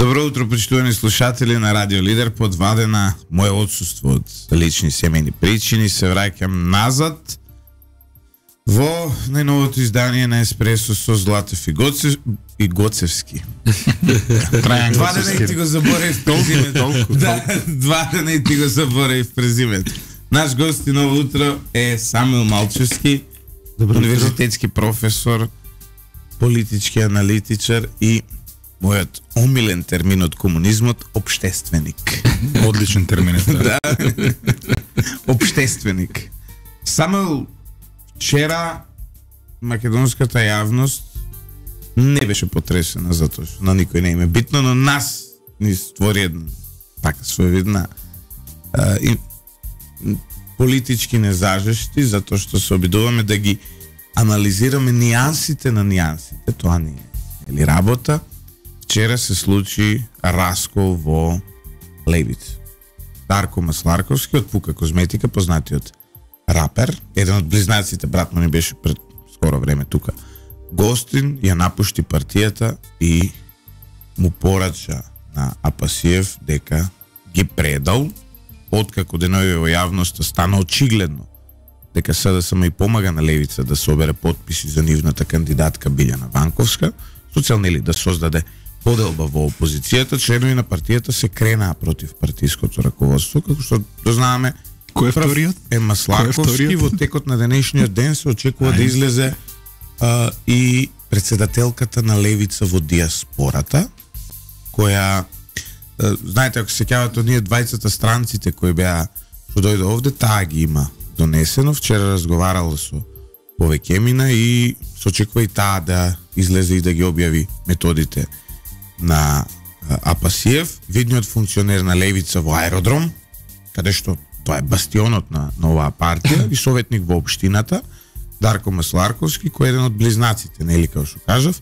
Добро утро, почитувани слушатели на Радио Лидер. Подвадена моје отсуство од лични семејни причини, се враќам назад во најновото издание на Еспресо со Златев и Гоцевски. Два дена и ти го заборев презимето. Два дена и ти го заборев презимето. Наш гост ново утро е Самуил Малчевски, универзитетски професор, политички аналитичар и мојот омилен термин од комунизмот, обштественик. Одличен термин е тоа. Да. Обштественик. Само вчера македонската јавност не беше потресена затоа што на никој не им е битно, но нас ни створи една така своевидна политички незажешти, затоа што се обидуваме да ги анализираме нијансите на нијансите. Тоа не е работа. Вчера се случи раскол во Левица. Дарко Масларковски од Пука Козметика, познатиот рапер, еден од близнаците, брат му не беше пред скоро време тука. Гостин ја напушти партијата и му порача на Апасиев дека ги предал, откако денови во јавноста стана очигледно дека СДСМ и помага на Левица да собере потписи за нивната кандидатка Билјана Ванковска, со цел нели да создаде поделба во опозицијата. Членови на партијата се кренаа против партиското раководство, како што дознаваме. Кој е вториот? Е Масларковски. Во текот на денешниот ден се очекува да излезе и председателката на Левица во диаспората, која знаете, ако се сеќавате од ние 20 странците кои беа што дојде овде, таа ги има донесено. Вчера разговарала со повеќе мина и се очекува и таа да излезе и да ги објави методите на Апасиев, видниот функционер на Левица во Аеродром, каде што тоа е бастионот на оваа партија, и советник во општината, Дарко Масларковски, кој е еден од близнаците, нели, како што кажав,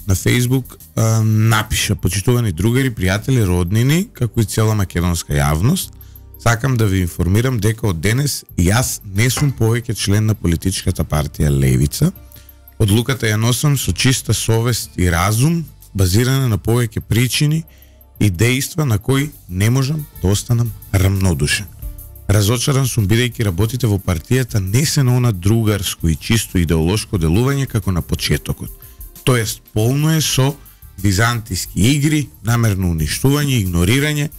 на Фејсбук напиша: почитувани другари, пријатели, роднини, како и цела македонска јавност, сакам да ви информирам дека од денес јас не сум повеќе член на политичката партија Левица. Одлуката ја носам со чиста совест и разум, базирана на повеќе причини и дејства на кои не можам да останам рамнодушен. Разочаран сум бидејќи работите во партијата не се на она другарско и чисто идеолошко делување како на почетокот. Тоест, полно е со византиски игри, намерно уништување, игнорирање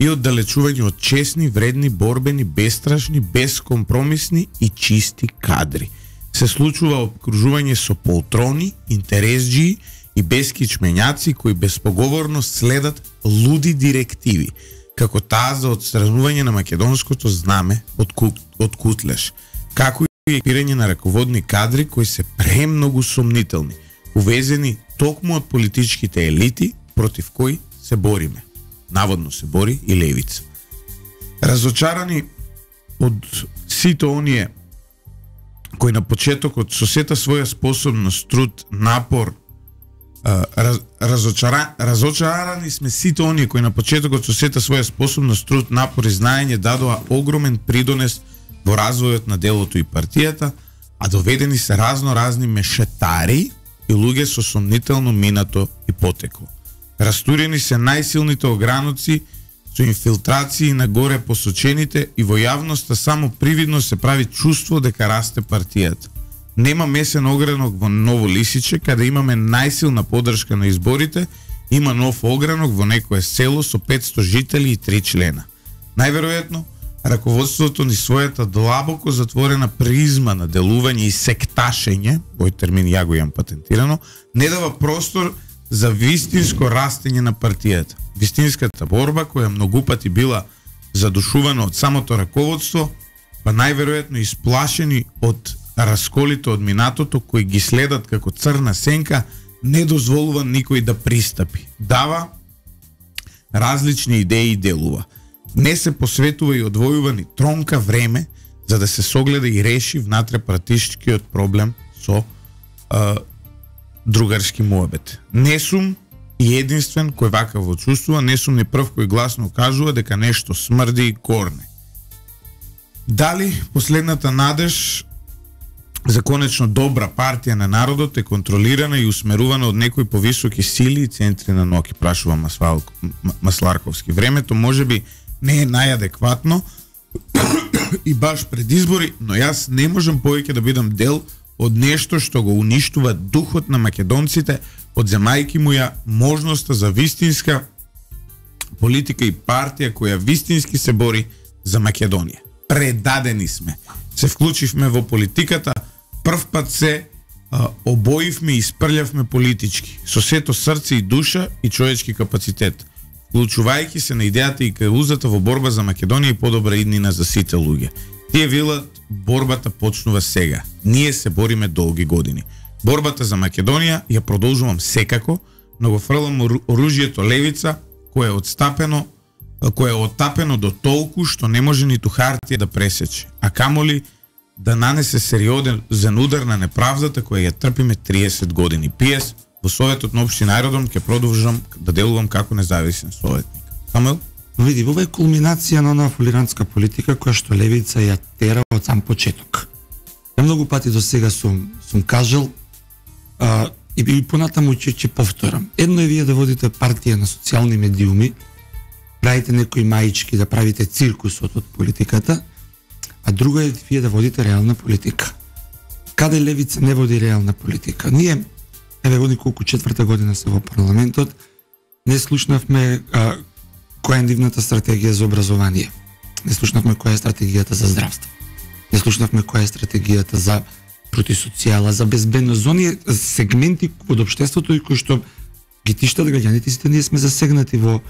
и оддалечување од честни, вредни, борбени, бестрашни, бескомпромисни и чисти кадри. Се случува обкружување со полтрони, интересџии и бескичмењаци кои безпоговорно следат луди директиви, како таа за отстранување на македонското знаме од Кутлеш, како и екипирање на раководни кадри кои се премногу сомнителни, увезени токму од политичките елити против кои се бориме. Наводно се бори и Левица. Разочарани од сите оние кои на почетокот со сета своја способност, труд, напор, разочарани сме сите оние кои на почетокот со сета своја способност, труд, напор и знаење дадоа огромен придонес во развојот на делото и партијата, а доведени се разни мешетари и луѓе со сомнително минато и потекло. Растурени се најсилните ограноци со инфилтрации на горе посочените и во јавноста само привидно се прави чувство дека расте партијата. Нема месен огранок во Ново Лисиче, каде имаме најсилна поддршка на изборите, има нов огранок во некое село со 500 жители и 3 члена. Најверојатно, раководството ни својата длабоко затворена призма на делување и секташење, овој термин ја го имам патентирано, не дава простор за вистинско растење на партијата. Вистинската борба, која многу пати била задушувана од самото раководство, па најверојатно исплашени од расколите од минатото кои ги следат како црна сенка, не дозволува никој да пристапи. Дава различни идеи и делува. Не се посветува и одвојува ни тронка време за да се согледа и реши внатре-партишкиот проблем со другарски муабет. Не сум и единствен кој вакаво чувствува, не сум ни прв кој гласно кажува дека нешто смрди и корне. Дали последната надеж за конечно добра партија на народот е контролирана и усмерувана од некои повисоки сили и центри на ноки, прашува Масларковски. Времето можеби не е најадекватно и баш пред избори, но јас не можам повеќе да бидам дел од нешто што го уништува духот на македонците, одземајќи му ја можноста за вистинска политика и партија која вистински се бори за Македонија. Предадени сме. Се вклучивме во политиката, прв пат се обоивме и испрлјавме политички, со сето срце и душа и човечки капацитет, вклучувајќи се на идејата и каузата во борба за Македонија и подобра иднина за сите луѓе. Тие велат, борбата почнува сега. Ние се бориме долги години. Борбата за Македонија ја продолжувам секако, но го фрлам оружјето левица, кое е оттапено до толку што не може ниту хартија да пресече, а камоли да нанесе сериозен удар на неправдата која ја трпиме 30 години. ПС, во Советот на општина Аеродром ќе продолжам да делувам како независен советник. Самуел? Види, ова е кулминација на онаа фолирантска политика која што левица ја тера од сам почеток. Ја многу пати до сега сум кажал и понатаму ќе повторам. Едно е вие да водите партија на социјални медиуми, правите некои маички, да правите циркусот од политиката, а друго е вие да водите реална политика. Каде левица не води реална политика? Ние, води колку четврта година се во парламентот, не слушнавме која е нивната стратегија за образование. Не слушнавме која е стратегијата за здравство. Не слушнавме која е стратегијата за против социјала, за безбедност, за оние сегменти од општеството и кои што ги тиштат граѓаните, сите ние сме засегнати во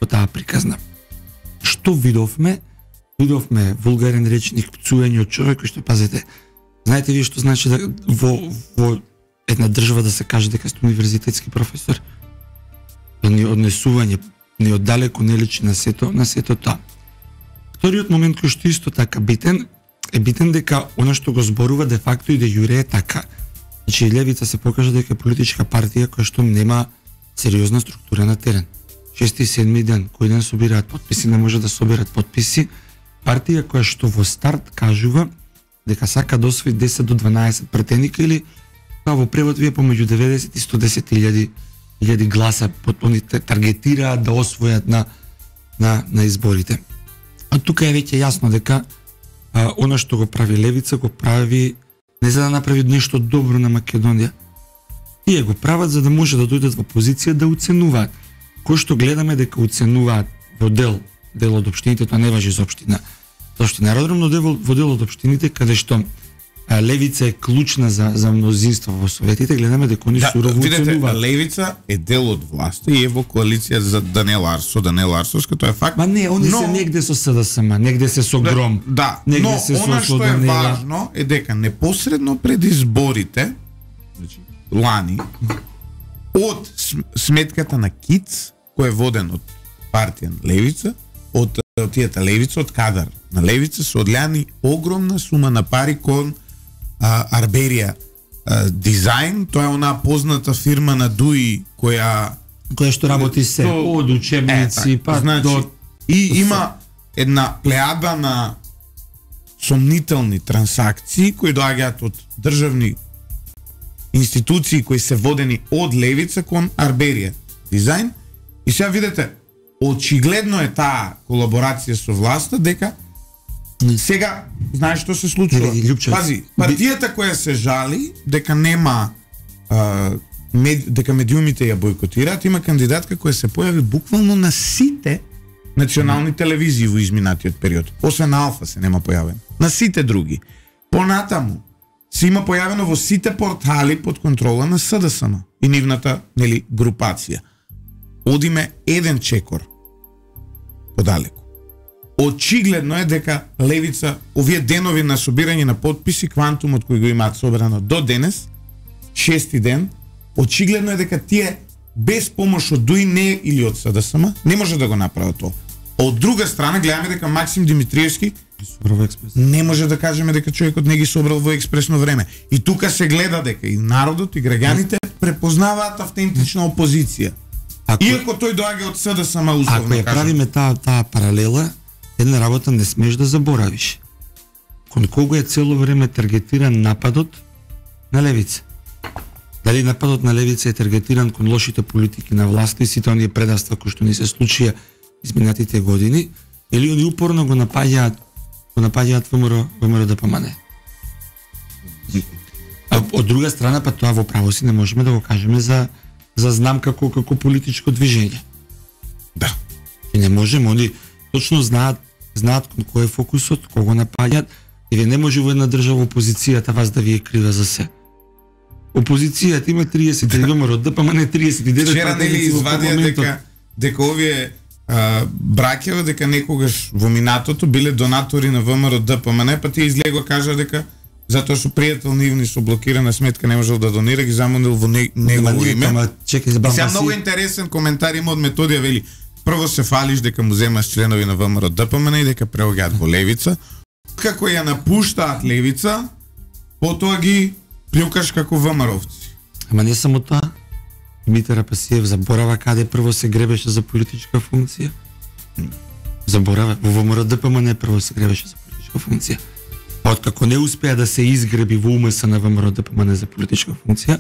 таа приказна. Што видовме? Видовме вулгарен речник, пцуење од човек кој што, пазете, знаете вие што значи да во една држава да се каже дека сте универзитетски професор? Однесување не оддалеку не личи на сето тоа. Вториот момент кој што исто така битен дека она што го зборува де факто и де јуре е така. Значи левица се покажа дека е политичка партија која што нема сериозна структура на терен. 6 и 7 ден, кој ден собираат потписи, не може да соберат потписи. Партија која што во старт кажува дека сака да освои 10 до 12 претеника или во превод вие помеѓу 90 и 110 илјади гласа они таргетираат да освојат на изборите. А тука е веќе јасно дека она што го прави левица го прави не за да направи нешто добро на Македонија. Тие го прават за да може да дојдат во позиција да оценуваат. Кој што гледаме дека оценуваат во дел од општините, тоа не важи за општина Аеродром, но во дел од општините каде што левица е клучна за мнозинство во советите, гледаме дека они сурово оценуваат. Левица е дел од власта и е во коалиција за Даниел Арсовски, тоа е факт. Ма не, они се негде со СДСМ, негде се со Гром. Да, но она што е важно е дека непосредно пред изборите, значи лани, од сметката на КИЦ, кој е воден од партија Левица, од тијата Левица, од кадар на Левица, се одлјани огромна сума на пари кон Арберија дизајн. Тоа е онаа позната фирма на Дуи која што работи се од учебници па до и има една плеада на сомнителни трансакции кои доаѓаат од државни институции кои се водени од Левица кон Арберија дизајн. И сега видите, очигледно е таа колаборација со власта дека сега знаеш што се случува. Пази, партијата која се жали дека нема дека медиумите ја бойкотираат, има кандидатка која се појави буквално на сите национални телевизии во изминатиот период. Освен на Алфа се нема појавен. На сите други. Понатаму се има појавено во сите портали под контрола на СДСМ и нивната, нели, групација. Одиме еден чекор подалеку. Очигледно е дека Левица овие денови на собирање на потписи, квантумот кој го имаат собрано до денес, 6-ти ден, очигледно е дека тие без помош од ДУИ не или од СДСМ не може да го направат тоа. Од друга страна гледаме дека Максим Димитриевски не може да кажеме дека човекот не ги собрал во експресно време. И тука се гледа дека и народот и граѓаните препознаваат автентична опозиција. Иако тој доаѓа од СДСМ условно. Ако ја правиме таа паралела, една работа не смеш да заборавиш. Кон кого е цело време таргетиран нападот на левица. Дали нападот на левица е таргетиран кон лошите политики на власта и сите оние предавства кои што ни се случија изминатите години, или они упорно го напаѓаат ВМРО ДПМН. А од друга страна, па тоа во право си не можеме да го кажеме за знам како политичко движење. Да. И не можеме, они точно знаат кон кој е фокусот, кого напаѓаат, и вие не може во една држава опозицијата вас да ви е крива за се. Опозицијата има 30 ВМРО ДПМН 39. Вчера нели извадија дека овие браќева дека некогаш во минатото биле донатори на ВМРО ДПМН, па тие излего кажа дека затоа што пријател нивни со блокирана сметка не можел да донира, ги замонил во негово име. Сега многу интересен коментар има од Методија, вели: прво се фалиш дека му земаш членови на ВМРО ДПМН и дека преоѓаат во левица. Како ја напуштаат левица, потоа ги плюкаш како ВМРО-овци. Ама не само тоа. Димитар Апасиев заборава каде прво се гребеше за политичка функција. Заборава во ВМРО ДПМН прво се гребеше за политичка функција. Откако не успеа да се изгреби во УМС на ВМРО ДПМН за политичка функција,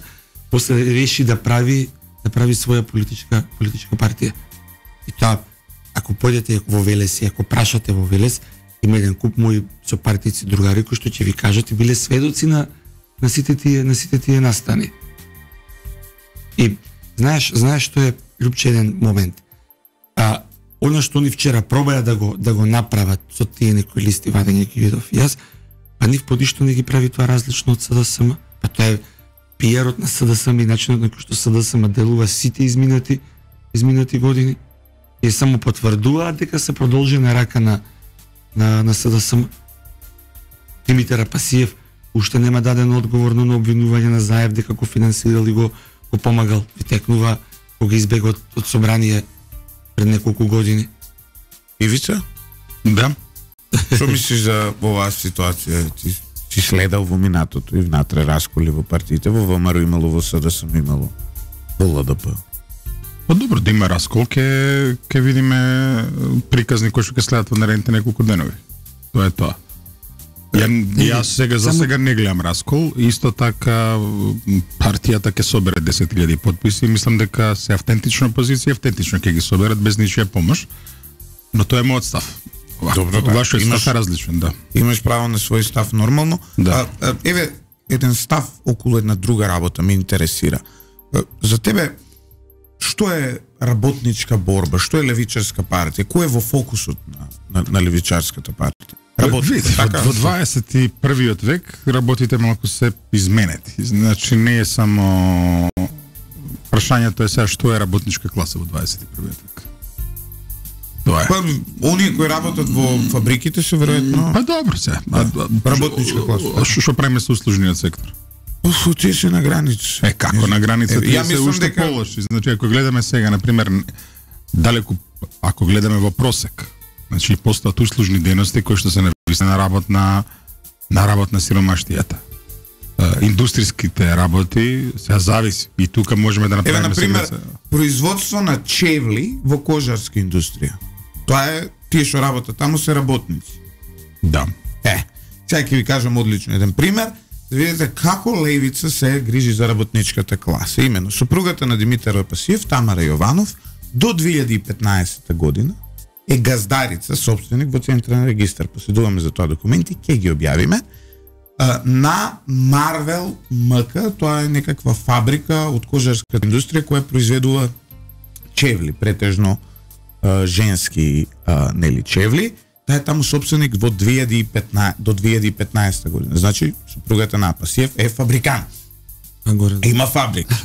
после реши да прави своја политичка партија. И тоа, ако појдете во Велес и ако прашате во Велес, има еден куп мои сопартици, другари кои што ќе ви кажат и биле сведоци на сите тие настани. И знаеш што е, Лјупче, еден момент. Она што они вчера пробаја да го направат со тие некои листи вадење ги видов и јас, па нив подишто не ги прави тоа различно од СДСМ. Па тоа е пиерот на СДСМ и начинот на кој што СДСМ делува сите изминати години. И само потврдуваат дека се продолжи на рака на СДСМ. Димитар Апасиев уште нема даден одговор на обвинување на Заев дека го финансирал и го помагал. Ви текнува кога избега од собрание пред неколку години. Ивица? Да. Што мислиш за оваа ситуација? Ти следал во минатото и внатре расколи во партиите, во ВМРО имало, во СДСМ имало, во ЛДП. Па добро, да има раскол, ке видиме приказни кои што ќе следат во наредните неколку денови. Тоа е тоа. Јас за сега не гледам раскол, исто така партијата ќе собере 10.000 потписи и мислам дека се автентична позиција, автентично ќе ги соберат без ничија помош, но тоа е мојот став. Добро, да. Вашиот став е различен, да. Имаш право на свој став нормално. Да. Еве еден став околу една друга работа ме интересира. За тебе што е работничка борба, што е левичарска партија, кој е во фокусот на левичарската партија? Видите, во 21-виот век работите малку се изменети. Значи не е само прашањето е сега што е работничка класа во 21-виот век. Тоа е. Па оние кои работат во фабриките се веројатно. Па добро се. Работничка класа. Што правиме со услужниот сектор? Тие се на граница. Како на граница? Тие се уште дека полоши. Значи ако гледаме сега, например, далеку, ако гледаме во просек, значи постојат услужни дејности кои што се нависни на работ на сиромаштијата. Индустриските работи се зависи и тука можеме да направиме. Еве на пример производство на чевли во кожарска индустрија. Тоа е тие што работат таму се работници. Да. Сега ќе ви кажам одлично еден пример. Да видите како левица се грижи за работничката класа. Имено, супругата на Димитар Апасиев, Тамара Јованов, до 2015 година е газдарица, собственик во Централен регистар. Поседуваме за тоа документи, ќе ги објавиме, на Марвел МК, тоа е некаква фабрика од кожарската индустрија која произведува чевли, претежно женски чевли. Таа е таму собственик во 2015 до 2015 година. Значи, супругата на Апасиев е фабрикант. Има фабрика.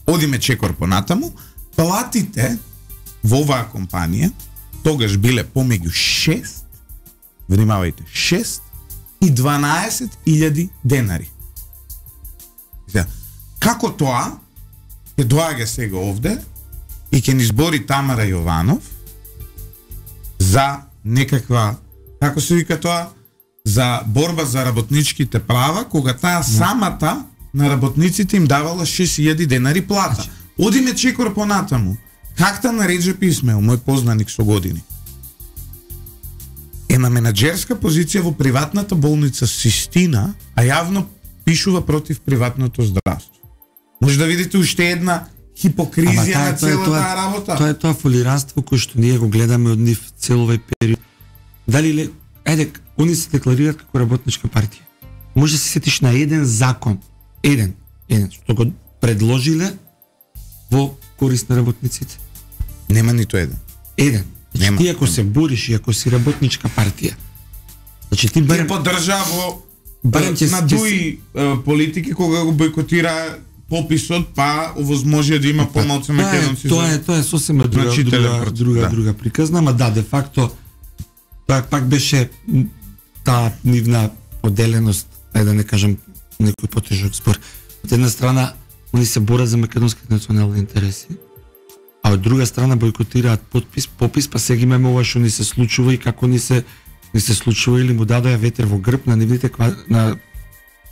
Одиме чекор понатаму, платите во оваа компанија тогаш биле помеѓу 6, внимавајте, 6 и 12.000 денари. Како тоа ќе доаѓа сега овде и ќе ни збори Тамара Јованов за некаква, како се вика тоа, за борба за работничките права, кога таа самата на работниците им давала 6.000 денари плата. Одиме чекор понатаму. Какта на Реджеп Исмаил, мој познаник со години, е на менаџерска позиција во приватната болница Систина, а јавно пишува против приватното здравство. Може да видите уште една хипокризија на целата работа. Тоа е тоа фолиранство кој што ние го гледаме од нив цел овој период. Дали они се декларираат како работничка партија. Може да се сетиш на еден закон, еден што го предложиле во корист на работниците. Нема ниту еден. Еден. Значи, ти ако се бориш и ако си работничка партија, значи ти барем поддржа во на дуи политики кога го бойкотира пописот, па овозможи да има помалку македонци. Тоа е сосема друга приказна, ама да, де факто тоа пак беше таа нивна поделеност, да не кажам некој потежок збор. Од една страна, они се борат за македонските национални интереси, а од друга страна бойкотираат попис, па сега имаме ова што ни се случува и како ни се случува или му дадоа ветер во грб на нивните на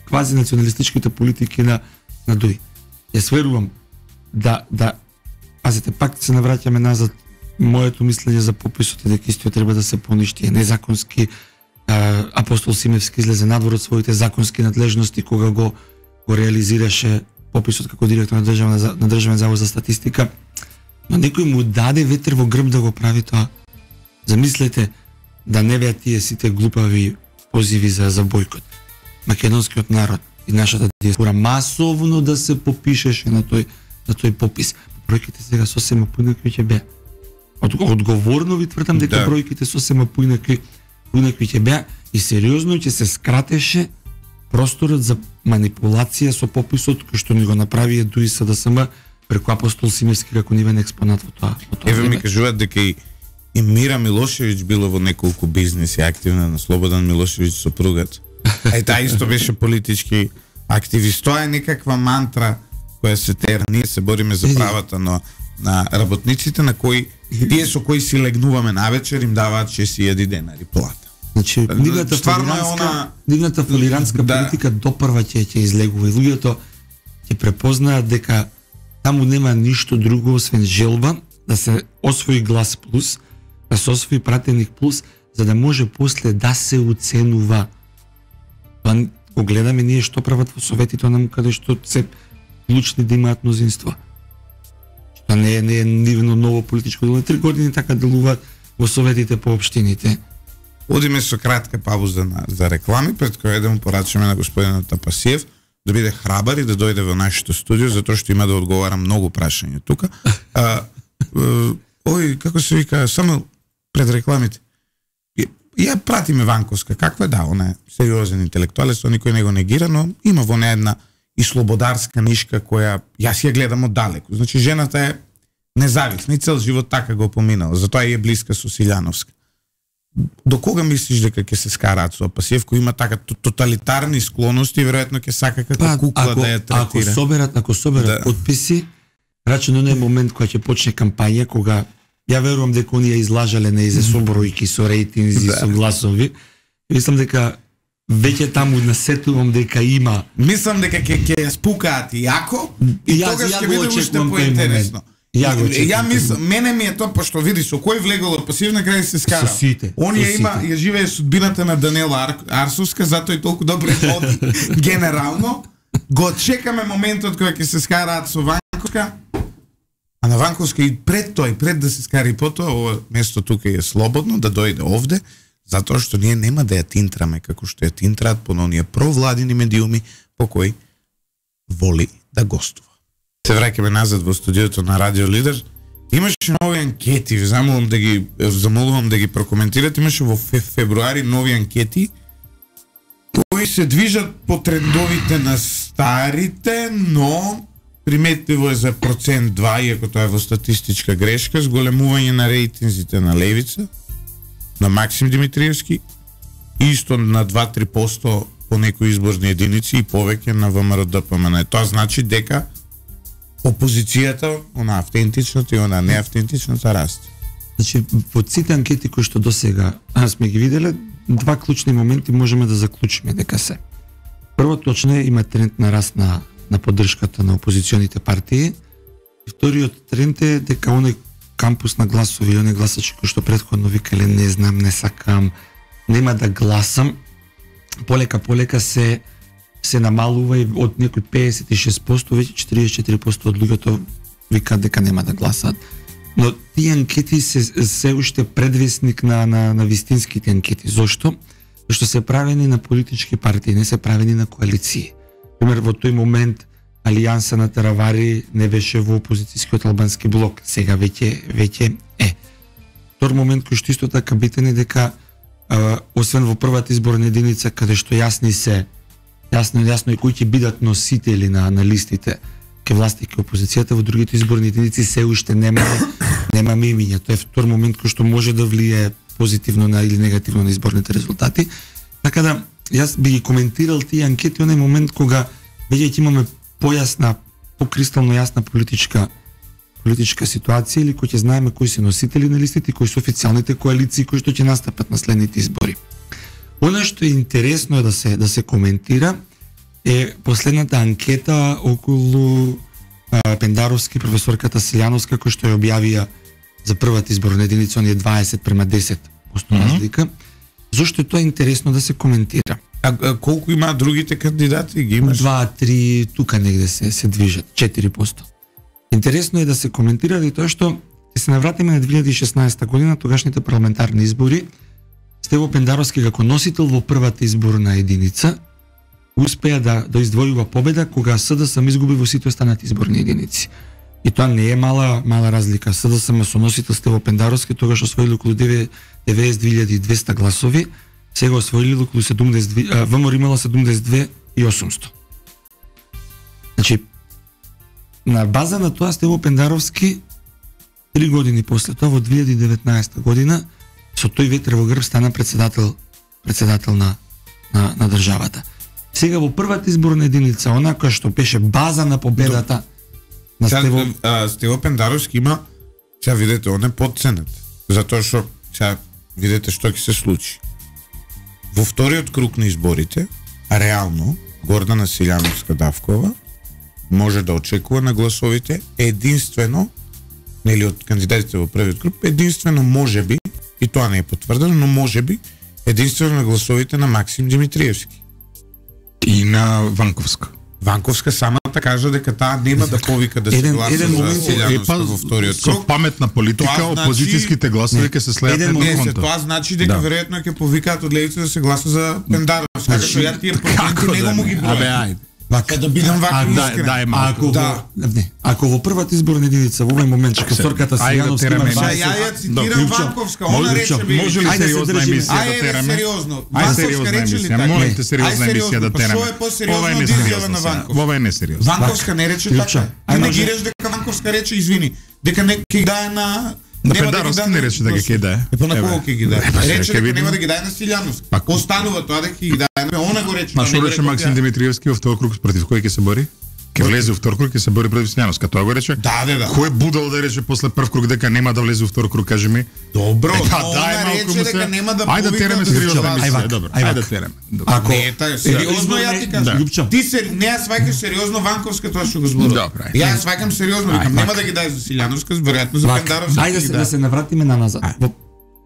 квази националистичките политики на ДУИ. Јас верувам да пазите, пак се навраќаме назад, моето мислење за пописот е дека истиот треба да се поништи, е незаконски. Апостол Симевски излезе надвор од своите законски надлежности кога го реализираше пописот како директор на Државен завод за статистика, но некој му даде ветер во грб да го прави тоа. Замислете да не беа тие сите глупави позиви за бойкот. Македонскиот народ и нашата диаспора масовно да се попишеше на тој попис. Бројките сега сосема поинакви ќе беа. Одговорно ви тврдам дека бројките сосема поинакви ќе беа и сериозно ќе се скратеше просторот за манипулација со пописот кој што ни го направи ДУИ СДСМ преку Апостол Симевски како нивен експонат во тоа. Еве ми кажуваат дека и Мира Милошевиќ било во неколку бизнеси активна на Слободан Милошевиќ сопругат. Таа исто беше политички активист. Тоа е некаква мантра која се тера. Ние се бориме за правата на работниците на кои тие со кои си легнуваме навечер им даваат 6.000 денари плата. Значи, нивната фолирантска политика допрва ќе излегува и луѓето ќе препознаат дека таму нема ништо друго освен желба да се освои глас плюс, да се освои пратеник плюс, за да може после да се уценува. Тоа го гледаме ние што прават во советите нам каде што се клучни да имаат мнозинство. Тоа не е нивно ново политичко дело. 3 години така делуваат во советите по општините. Одиме со кратка пауза за реклами, пред која да му порачаме на господинот Тапасиев да биде храбар и да дојде во нашето студио, затоа што има да одговара многу прашања тука. Како се вика, само пред рекламите. Ја пратиме Ванковска, каква е, да, она е сериозен интелектуалец, тоа никој не го негира, но има во неја една и слободарска нишка која јас ја гледам од далеку. Значи жената е независна и цел живот така го поминала, затоа е блиска со Силјановска. До кога мислиш дека ќе се скараат со Апасиев, кој има така тоталитарни склоности, веројатно ќе сака како кукла да ја третира? Ако соберат подписи, рачено не е момент кога ќе почне кампања, кога ја верувам дека оние излажале неизе со бројки, со рейтинзи, со гласови. Мислам дека веќе таму насетувам дека има. Мислам дека ќе ја спукаат јако и тогаш ќе биде уште поинтересно. Ја мислам, мене ми е тоа, пошто види со кој влегол Апасиев на крај се скара. Оние ја живее судбината на Даниела Арсовска, затоа и толку добро води генерално. Го чекаме моментот кога ќе се скараат со Ванковска. А на Ванковска и пред да се скари потоа, ова место тука е слободно да дојде овде, затоа што ние нема да ја тинтраме како што ја тинтраат по оние провладини медиуми по кои воли да гостува. Се враќаме назад во студиото на Радио Лидер. Имаше нови анкети, замолувам да ги прокоментирате. Имаше во февруари нови анкети кои се движат по трендовите на старите, но приметливо е за 2%, иако тоа е во статистичка грешка, зголемување на рейтинзите на Левица, на Максим Димитриевски, исто на 2-3% по некои изборни единици и повеќе на ВМРО-ДПМН. Тоа значи дека опозицијата, она автентичната и она неавтентичната расте. Значи, во сите анкети кои што досега сме ги виделе, два клучни моменти можеме да заклучиме дека се. Прво, точно е, има тренд на раст на поддршката на опозиционите партии. И вториот тренд е дека оној кампус на гласови, оној гласачи кои што претходно викале не знам, не сакам, нема да гласам, полека се се намалува и од некои 56%, веќе 44% од луѓето викаат дека нема да гласаат. Но тие анкети се уште предвесник на вистинските анкети. Зошто? Зашто се правени на политички партии, не се правени на коалиции. Пример, во тој момент Алијанса на Теравари не беше во опозицијскиот албански блок, сега веќе е. Втор момент кој што исто така битен е дека освен во првата изборна единица каде што јасно и кои ќе бидат носители на листите ке власта и ке опозицијата, во другите изборни единици се уште немаме имиња. Тоа е втор момент кој што може да влие позитивно или негативно на изборните резултати. Така да јас би ги коментирал тие анкети онај момент кога веќе ќе имаме појасна, покристално јасна политичка ситуација или кој ќе знаеме кои се носители на листите и кои се официјалните коалиции кои што ќе настапат на следните избори. Она што е интересно е да се коментира е последната анкета околу Пендаровски, професорката Селјановска, кој што ја објавија за првата изборна единица, оние 20/10% разлика. Зошто е тоа интересно да се коментира? А колку има другите кандидати? Ги имаш? 2-3 тука негде се движат, 4%. Интересно е да се коментира и тоа што ќе се навратиме на 2016 година, тогашните парламентарни избори. Стево Пендаровски како носител во првата изборна единица успеа да издвојува победа кога СДСМ изгуби во сите останати изборни единици. И тоа не е мала разлика. СДСМ со носител Стево Пендаровски тогаш освоили околу 92.200 гласови, сега освоили околу 72, ВМРО имала 72.800. Значи, на база на тоа Стево Пендаровски 3 години после тоа во 2019 година со тој ветер во грб стана председател на државата. Сега во првата изборна единица, онака што беше база на победата на Стево Пендаровски има, сега видете, он е подценет. Затоа што сега видете што ќе се случи. Во вториот круг на изборите, реално Гордана Селјановска-Давкова може да очекува на гласовите единствено, нели од кандидатите во првиот круг, единствено можеби, и тоа не е потврдено, но можеби единствено на гласовите на Максим Димитриевски. И на Ванковска. Ванковска самата кажа дека таа нема да повика да се гласа за Селјановска во вториот круг. Со паметна политика, опозицијските гласови ќе се слеат на конто. Тоа значи дека веројатно ќе повикаат од левица да се гласа за Пендаровска. Така што ја тие проценти него му ги бројам. Вака да бидам вака искрен. Ако во првата изборна единица во овој момент професорката Селјановска има ја цитирам Ванковска, она рече може ли сериозна емисија да тераме? Сериозно. Сериозна емисија, молите сериозна емисија да тераме. Што е посериозно од изјава на Ванковска? Ова е несериозно. Ванковска не рече така. Не ги рече дека Ванковска рече извини, дека не ќе дае на Пендаровски не рече дека ќе дае. Па на кого ќе ги дае? Рече дека нема да ги дае на Селјановска. Останува тоа дека ќе ги дае. Она го рече. Ма што рече Максим Димитриевски во втор круг против кој ќе се бори? Ќе влезе во втор круг, ќе се бори против Селјановска. Тоа го рече? Да. Кој будал да рече после прв круг дека нема да влезе во втор круг, кажи ми? Добро, дај малку му се. Ајде да тераме сериозна емисија, добро. Ајде да тераме. Ако не, таа сериозно ја ти кажам. Ти се не ја сваќаш сериозно Ванковска тоа што го зборува. Добро. Ја сваќам сериозно, викам нема да ги дај за Селјановска, веројатно за Пендаровска. Ајде да се навратиме назад.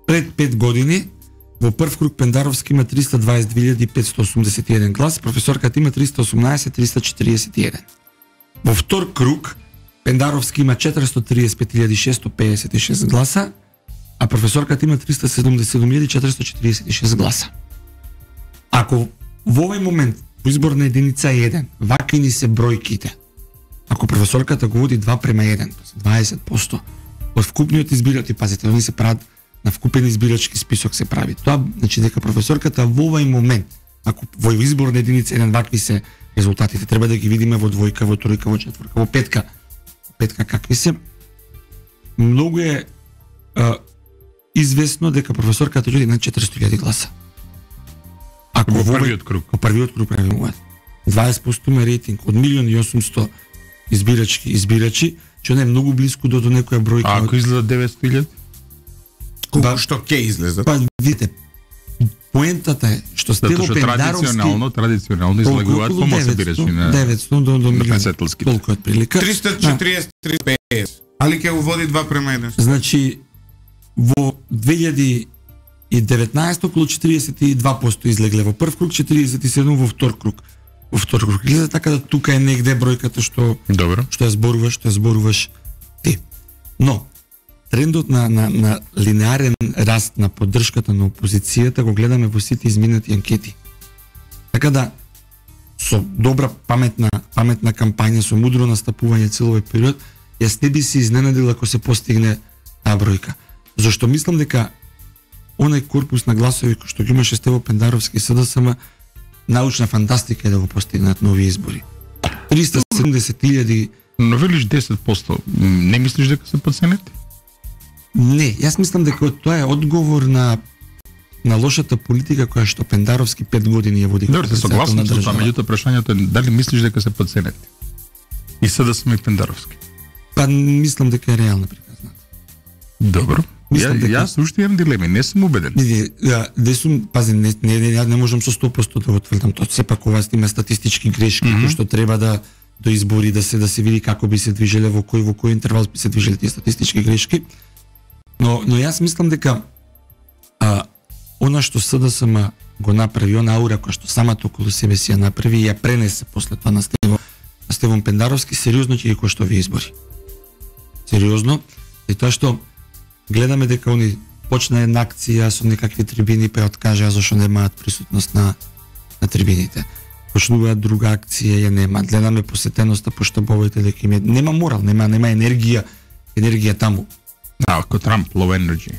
Пред 5 години во прв круг Пендаровски има 322.581 глас, професорката има 318.341. Во втор круг Пендаровски има 435.656 гласа, а професорката има 377.446 гласа. Ако во овој момент во изборна единица 1, вака ни се бројките, ако професорката го води 2:1, 20%, од вкупниот избирачи, пазите, они се прават на вкупен избирачки список се прави. Тоа значи дека професорката во овој момент, ако во изборна единица 1 вакви се резултатите, треба да ги видиме во двојка, во тројка, во четворка, во петка. Петка какви се? Многу е известно дека професорката дојде на 400.000 гласа. Ако во првиот круг. Во првиот круг правиме 20% ме рейтинг од 1.800.000 избирачи, што не е многу блиску до некоја бројка. А ако излезат 900.000? Колку што ќе излезат? Па видите, поентата е што Стево Пендаровски традиционално излагуваат помоци бирачи на 900 до 1.000.000. председателски. Толку отприлика. 340-350. Али ќе го води 2:1. Значи во 2019 околу 42% излегле во прв круг, 47 во втор круг. втори круг излезе, така да тука е негде бројката што Добро. што ја зборуваш ти. Но трендот на линеарен раст на поддршката на опозицијата го гледаме во сите изминати анкети. Така да со добра паметна кампања, со мудро настапување цел овој период, јас не би се изненадил ако се постигне таа бројка. Зашто мислам дека онај корпус на гласови кој што ги имаше Стево Пендаровски и СДСМ, научна фантастика е да го постигнат на овие избори. 370.000. Но велиш 10%, не мислиш дека се подценети? Не, јас мислам дека тоа е одговор на лошата политика која што Пендаровски 5 години ја води. Добро, се согласувам со тоа, меѓутоа прашањето е дали мислиш дека се подценети? И СДСМ и Пендаровски. Па мислам дека е реална приказната. Добро. Дека... Јас уште имам дилеми, не сум убеден. Пази, не можам со 100% да го тврдам тоа. Сепак ова има статистички грешки кои што треба да до избори да се види како би се движеле во кој интервал би се движеле тие статистички грешки. Но јас мислам дека она што СДСМ го направи, она аура која што самата околу себе си ја направи и ја пренесе после тоа на Стевон Пендаровски, сериозно ќе ги кошта овие избори. Сериозно. И тоа што гледаме дека они почна една акција со некакви трибини, па откажаа зашто немаат присутност на трибините. Почнуваат друга акција, ја немаат. Гледаме посетеноста по штабовите дека им нема морал, нема енергија таму. Ако Трамп low energy.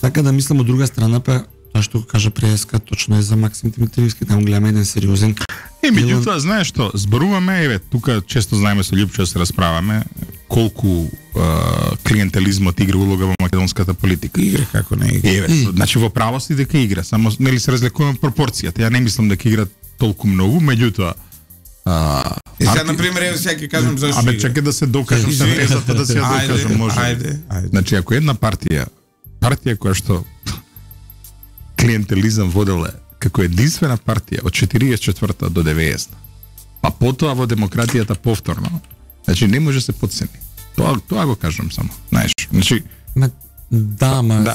Така да мислам од друга страна, па тоа што го кажа преска точно е за Максим Димитриевски, таму гледаме еден сериозен. Меѓутоа, знаеш што, зборуваме, тука често знаеме со Љупчо да се расправаме колку клиентелизмот игра улога во македонската политика. Игра како не игра. Значи во право си дека игра, само нели се разликуваме пропорцијата. Ја не мислам дека игра толку многу, меѓутоа сега на пример еве сега ќе кажам зашто. Абе чекај да се докажам се тезата да се ја докажам, може. Ајде. Значи ако една партија која што клиентелизам воделе како единствена партија од 44-та до 90-та, а потоа во демократијата повторно, значи не може се подцени. Тоа го кажам само, знаеш. Значи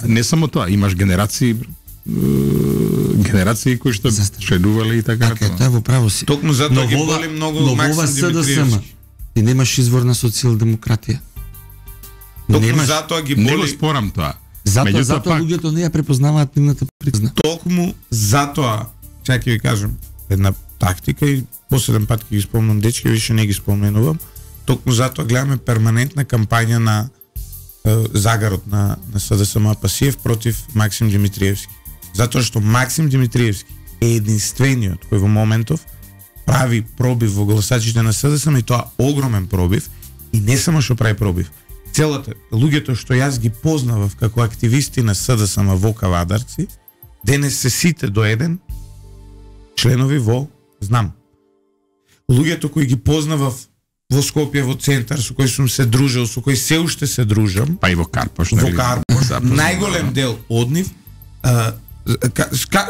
не само тоа, имаш генерации кои што шедувале и така. Така, тоа во право си. Токму затоа ги боли многу Максим Димитриевски. Ти немаш извор на социјалдемократија. Токму затоа ги боли. Не го спорам тоа. Затоа луѓето не ја препознаваат нивната призна. Токму затоа, чај ќе ви кажам, една тактика и последен пат ќе ги спомнам дечки, више не ги споменувам. Токму затоа гледаме перманентна кампања на загарот на СДСМ Пасиев против Максим Димитриевски. Затоа што Максим Димитриевски е единствениот кој во моментов прави пробив во гласачите на СДСМ и тоа огромен пробив и не само што прави пробив. Целата луѓето што јас ги познавав како активисти на СДСМ во Кавадарци, денес се сите до еден членови во знам. Луѓето кои ги познавав во Скопје, во центар, со кои сум се дружел, со кои се уште се дружам, па и во Карпош, најголем дел од нив,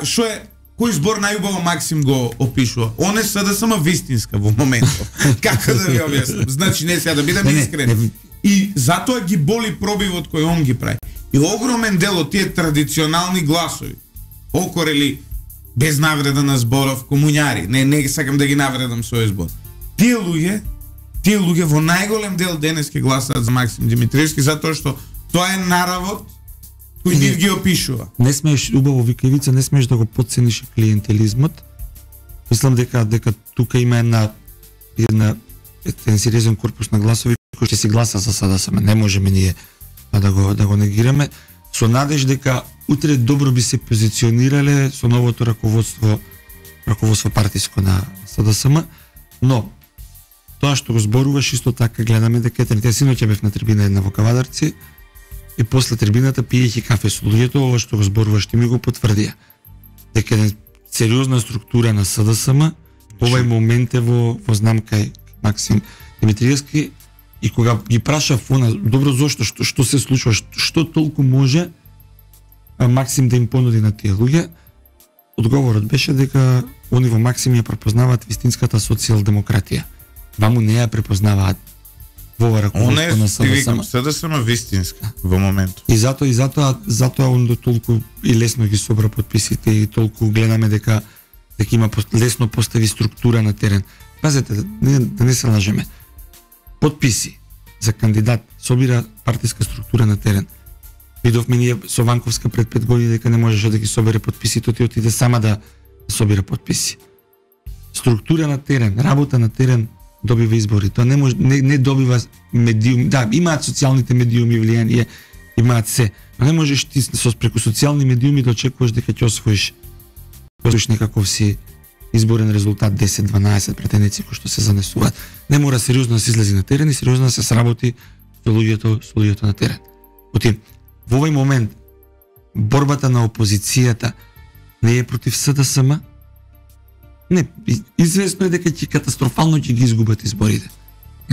што е, кој збор најубаво Максим го опишува? Он е СДСМ вистинска во моментот. Како да ви објаснам? Значи не сега да бидам искрен. И затоа ги боли пробивот кој он ги прави. И огромен дел од тие традиционални гласови, окорели без навреда на зборов, комуњари, не сакам да ги навредам со овој збор. Тие луѓе во најголем дел денес ќе гласаат за Максим Димитриевски затоа што тоа е наравот кој нив ги опишува. Не смееш, убаво вика Ивица, не смееш да го потцениш клиентелизмот. Мислам дека тука има еден сериозен корпус на гласови кој ќе си гласа за СДСМ. Не можеме ние да го негираме со надеж дека утре добро би се позиционирале со новото раководство партиско на СДСМ, но тоа што го зборуваш исто така гледаме дека третија синоќа бев на трибина една во Кавадарци и после трибината пиејќи кафе со луѓето, ова што го зборуваш ти ми го потврдија. Дека е сериозна структура на СДСМ, овај момент е во знам кај Максим Димитриевски и кога ги прашав она, добро зошто, што се случува, што толку може Максим да им понуди на тие луѓе, одговорот беше дека они во Максим ја препознаваат вистинската социјалдемократија. Ваму не ја препознаваат во раководство на СДСМ. СДСМ вистинска во моментот. И затоа он толку и лесно ги собра подписите и толку гледаме дека дека има лесно постави структура на терен. Пазете, да не се лажеме. Потписи за кандидат собира партиска структура на терен. Видовме ние со Ванковска пред 5 години дека не можеше да ги собере потписи, тој отиде сама да собира потписи. Структура на терен, работа на терен добива избори. Тоа не добива медиум. Да, имаат социјалните медиуми влијание, имаат се, но не можеш ти преку социјални медиуми да очекуваш дека ќе освоиш некаков си изборен резултат 10-12 претенденци кои што се занесуваат. Не мора сериозно да се излезе на терен и сериозно да се сработи со луѓето на терен. Отим, во овој момент борбата на опозицијата не е против СДСМ. Не, известно е дека ќе катастрофално ќе ги изгубат изборите.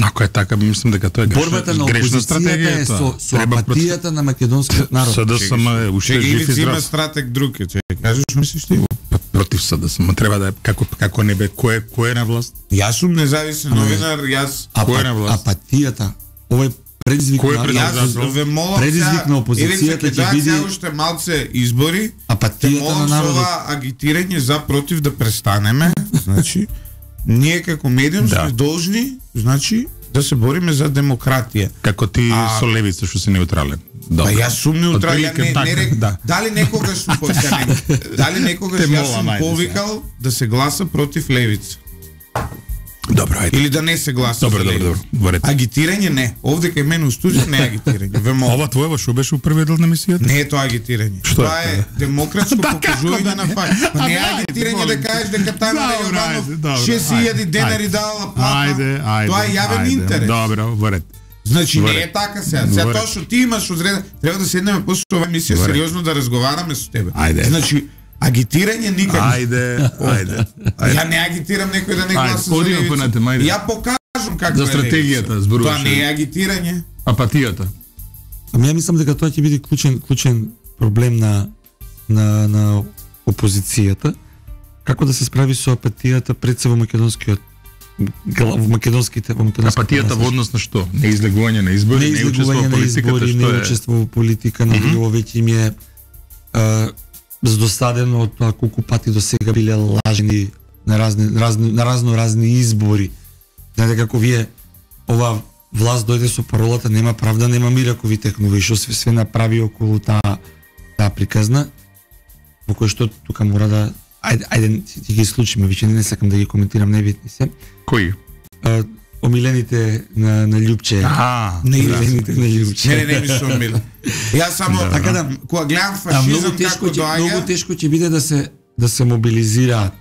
Ако е така, мислам дека тоа е борбата на опозицијата е со апатијата на македонскиот народ. СДСМ е уште жив и здрав. Има стратег друг, кажеш, мислиш ти? Против СДСМ треба да е како не бе кој е на власт? Јас сум независен новинар, кој е на власт? Апатијата, овој предизвик на опозицијата ќе биде уште малце избори. Апатијата на народот. Агитирање за против да престанеме. Значи, ние како медиум сме должни, значи, да се бориме за демократија. Како ти со левица што си неутрален. Па јас сум неутрален, дали некогаш сум јас сум повикал да се гласа против левица. Добро, ајде. Или да не се гласа. Добро. Агитирање не. Овде кај мене у студио не е агитирање. Ова твоева што беше у првиот дел на емисијата? Не е тоа агитирање. Тоа е демократско покажување на факт. Не е агитирање да кажеш дека Тамара Јованов 6000 денари дала плата. Тоа е јавен интерес. Добро, во ред. Значи не е така сега. Сега тоа што ти имаш одреден, треба да седнеме после оваа емисија сериозно да разговараме со тебе. Значи агитирање никаде. Ајде. Ја не агитирам некој да не гласа за левица. Ја покажам како за стратегијата зборуваш. Тоа не е агитирање. Апатијата. Ами ја мислам дека тоа ќе биде клучен проблем на опозицијата. Како да се справи со апатијата пред се во македонските апатијата во однос на што? Неизлегување на избори, неучество во политика, на веќе им е здосадено од тоа колку пати до сега биле лажени на разни избори. Знаете како вие ова власт дојде со паролата нема правда, нема мир, ако ви текнува и што све направи околу таа приказна, во кој што тука мора да ајде ти ги случиме, веќе не сакам да ги коментирам, небитни се. Кои? Омилените на Љупче. Омилените на Љупче. Не ми се омилен. Јас само така да кога гледам фашизам како доаѓа, многу тешко ќе биде да се мобилизираат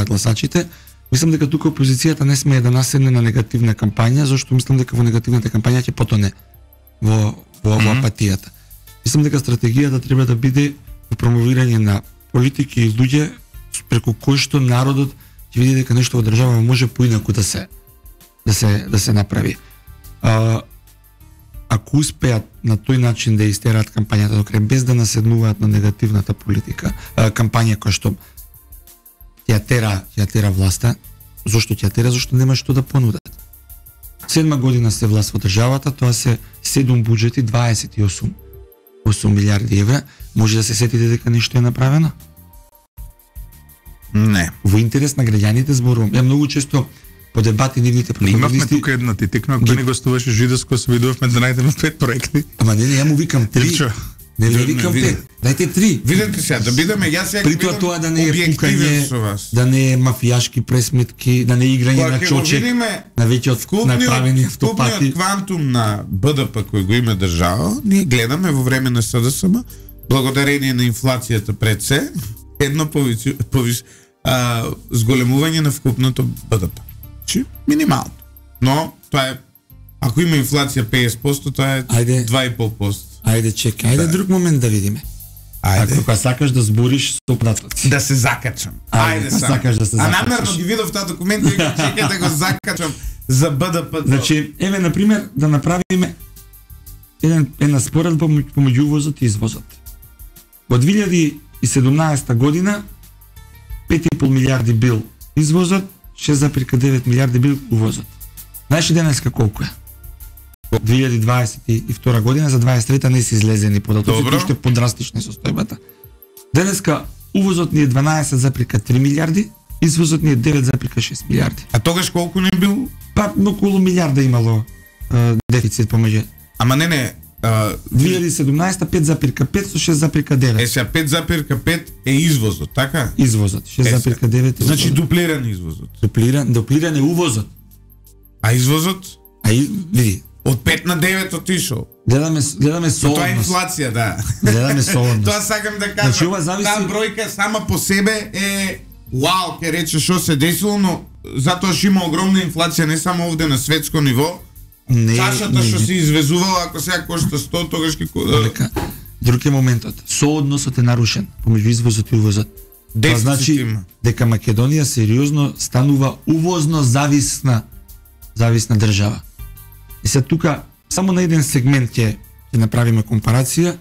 гласачите. Мислам дека тука опозицијата не смее да наседне на негативна кампања, зашто мислам дека во негативната кампања ќе потоне во апатијата. Мислам дека стратегијата треба да биде во промовирање на политики и луѓе преку кои што народот ќе види дека нешто во држава може поинаку да се направи. Ако успеат на тој начин да истераат кампањата до крај без да наседнуваат на негативната политика, кампања која што ја тера власта, зошто ќе тера? Зошто нема што да понудат. 7 година се власт во државата, тоа се 7 буџети, 28 милиарди евра, може да се сетите дека нешто е направено? Не. Во интерес на граѓаните зборувам. Ја многу често по дебати нивните професионалисти. Имавме тука една ти текна, ако не гостуваше Жидовско, се видовме да најдеме 5 проекти. Ама не, ја му викам 3. Не викам 5. Дајте 3. Видете сега, да бидеме јас сега. При тоа да не е пукање, да не е мафијашки пресметки, да не е играње на чочек, на веќе направени автопати. Вкупниот квантум на БДП кој го има држава, ние гледаме во време на СДСМ, благодарение на инфлацијата пред се, едно зголемување на вкупното БДП. Минимално. Но тоа е, ако има инфлација 50%, тоа е 2,5%. Ајде чекај, ајде друг момент да видиме. Ајде. Ако сакаш да збориш со податоци. Да се закачам. Ајде сакаш да се закачаш. А намерно ги видов таа документ и чекај да го закачам за БДП. Значи, еве на пример да направиме една споредба помеѓу увозот и извозот. Во 2017 година 5,5 милиарди бил извозот, 6,9 милиарди бил увозот. Знаеш денеска колку е? 2022 година, за 23-та не се излезени податоци, уште подрастична состојбата. Денеска увозот ни е 12,3 милиарди, извозот ни е 9,6 милиарди. А тогаш колку не бил? Па околу милиарда имало дефицит помеѓу. Ама не, 2017 5,5 со 6,9. сега 5,5 е извозот, така? Извозот 6,9. Значи дуплиран извозот. Дуплиран е увозот. А извозот? Види. Од 5 на 9 отишол. Гледаме солодност. Тоа е инфлација, да. Гледаме солодност. Тоа сакам да кажам. Значи, ова зависи... Таа бројка сама по себе е вау, ке рече што се десило, но затоа што има огромна инфлација не само овде на светско ниво. Чашата што се извезувала, ако сега кошта 100, тогаш ке... Друг е моментот. Соодносот е нарушен помеѓу извозот и увозот. Тоа значи дека Македонија сериозно станува увозно зависна држава. И се тука само на еден сегмент ќе направиме компарација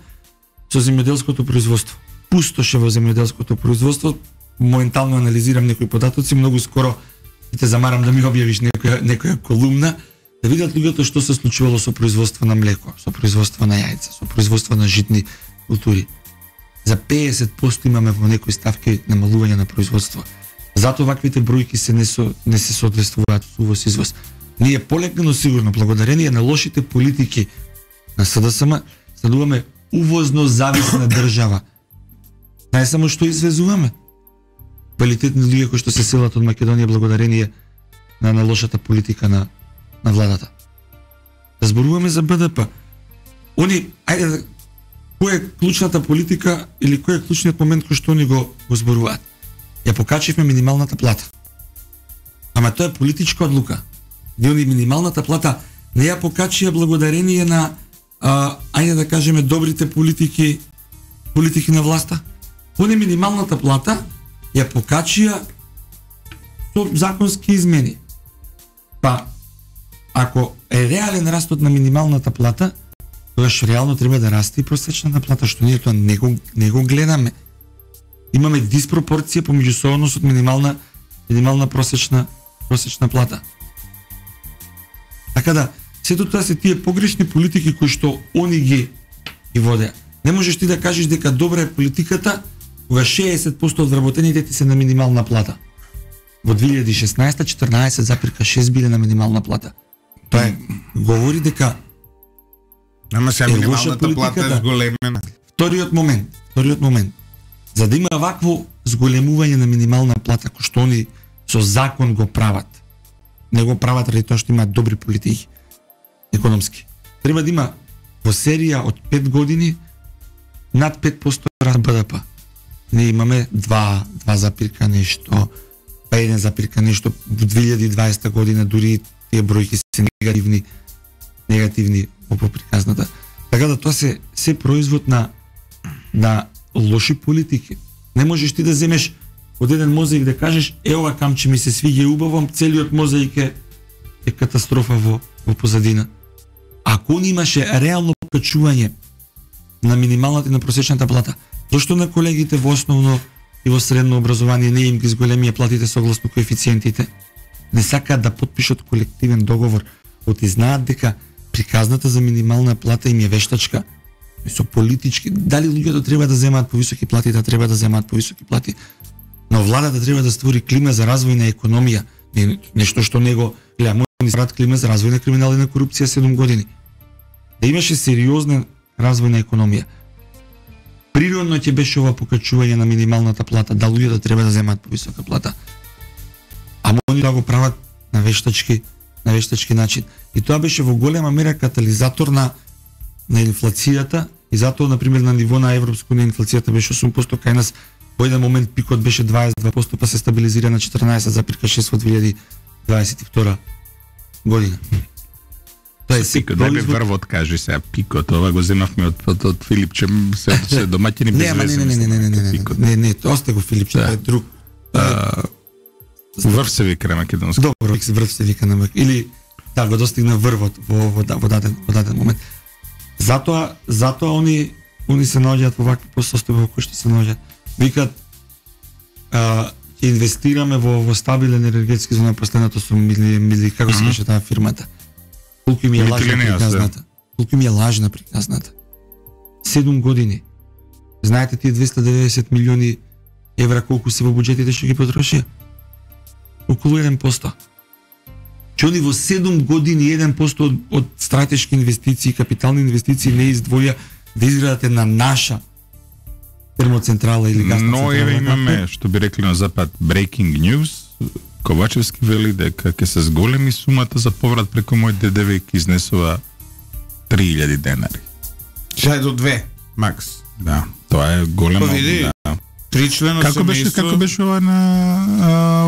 со земјоделското производство. Пустоше во земјоделското производство. Моментално анализирам некои податоци, многу скоро ќе те замарам да ми објавиш некоја колумна, да видат луѓето што се случувало со производство на млеко, со производство на јајца, со производство на житни култури. За 50% имаме во некои ставки намалување на производство. Затоа ваквите бројки не се соодветствуваат со увоз извоз. Ние полека, сигурно, благодарение на лошите политики на СДСМ, стануваме увозно зависна држава. Не само што извезуваме. Квалитетни луѓе кои што се селат од Македонија благодарение на лошата политика на владата. Да зборуваме за БДП. Која е клучната политика или кој е клучниот момент кој што они го зборуваат? Ја покачивме минималната плата. Ама тоа е политичка одлука. Они минималната плата не ја покачија благодарение на ајде да кажеме добрите политики на власта. Они минималната плата ја покачија со законски измени. Па ако е реален растот на минималната плата, тогаш реално треба да расте и просечната плата, што ние тоа не го гледаме. Имаме диспропорција помеѓу соодносот минимална просечна плата. Така да, сето тоа се тие погрешни политики кои што они ги водеа. Не можеш ти да кажеш дека добра е политиката кога 60% од вработените ти се на минимална плата. Во 2016 14,6 биле на минимална плата. Тоа говори дека ама сега минималната плата е зголемена. Вториот момент. За да има вакво зголемување на минимална плата кој што они со закон го прават, не го прават ради тоа што имаат добри политики економски. Треба да има во серија од 5 години над 5% раст БДП. Ние имаме 2 нешто, па 1 нешто во 2020 година, дури тие бројки се негативни по приказната. Така да тоа се производ на лоши политики. Не можеш ти да земеш од еден мозаик да кажеш ова камче ми се свиѓа убаво, целиот мозаик е катастрофа во позадина. Ако не имаше реално покачување на минималната и на просечната плата, зошто на колегите во основно и во средно образование не им ги зголемија платите согласно коефициентите? Не сакаат да потпишат колективен договор, оти знаат дека приказната за минимална плата им е вештачка. Со политички, дали луѓето треба да земаат повисоки плати, да треба да земаат повисоки плати, но владата треба да створи клима за развој на економија, нешто што него гледа, ни срат клима за развој на криминал и на корупција 7 години. Да имаше сериозна развој на економија. Природно ќе беше ова покачување на минималната плата, да луѓето треба да земаат повисока плата. Ама они да го прават на вештачки начин. И тоа беше во голема мера катализатор на инфлацијата, и затоа, например, на ниво на Европско на инфлацијата беше 8%, кај нас во еден момент пикот беше 22%, па се стабилизира на 14,6 во 2022 година. Тоа е пикот, дај ми врвот кажи сега пикот, ова го земавме од Филипче, се домаќини без везе. Не, осте го Филипче, тоа е друг. Врв се вика на македонски. Добро, врв се вика на македонски. Или да го достигна врвот во даден момент. Затоа они се наоѓаат во вакви состојби во кои што се наоѓаат. Викаат ќе инвестираме во стабилен енергетски зона, последното со мили како се беше таа фирмата. Колку им е лажна приказната. 7 години. Знаете тие 290 милиони евра колку се во буџетите што ги потрошија? Околу 1%. Че они во 7 години 1% од стратешки инвестиции, капитални инвестиции не издвоја да изградат една наша термоцентрала или гасна централа. Но еве имаме, што би рекли на запад, breaking news. Ковачевски вели дека ќе се зголеми сумата за поврат преку мој ДДВ и ќе изнесува 3000 денари. Шај до 2, макс. Да, тоа е големо. Види, да. 3 члено Како беше ова на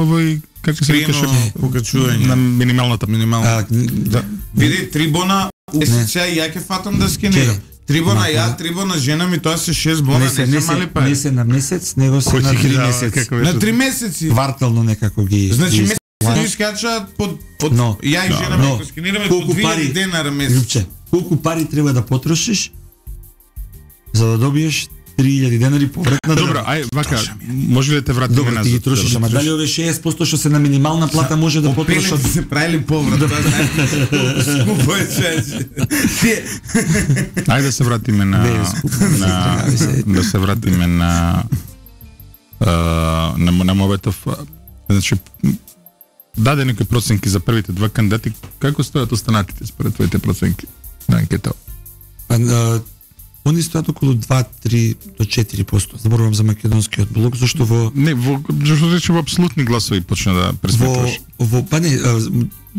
овој како се викаше покачување на минималната да. Види, трибона сега ја ќе фатам да скенирам. Трибона ја, трибона жена ми, тоа се 6 бона, не се мали пари. Не се на месец, него се на 3 месеци. На 3 месеци. Вартално некако ги. Значи месец ги искачаат под ја и жена ми го скенираме по 2000 денара месец. Колку пари треба да потрошиш за да добиеш 3000 денари повратна држава? Добро, ај вака, може ли да те вратиме назад? Добро, ти ги трошиш, ама дали ове 60% што се на минимална плата може да потрошат? Опелите се правили поврат, тоа скупо е чеќе. Ајде да се вратиме да се вратиме на Моветов. Значи, даде некои проценки за првите два кандидати. Како стојат останатите според твоите проценки на анкета? Они стојат околу 2-3 до 4%. Зборувам за македонскиот блок, зашто во во апсолутни гласови почна да пресметуваш. Па не,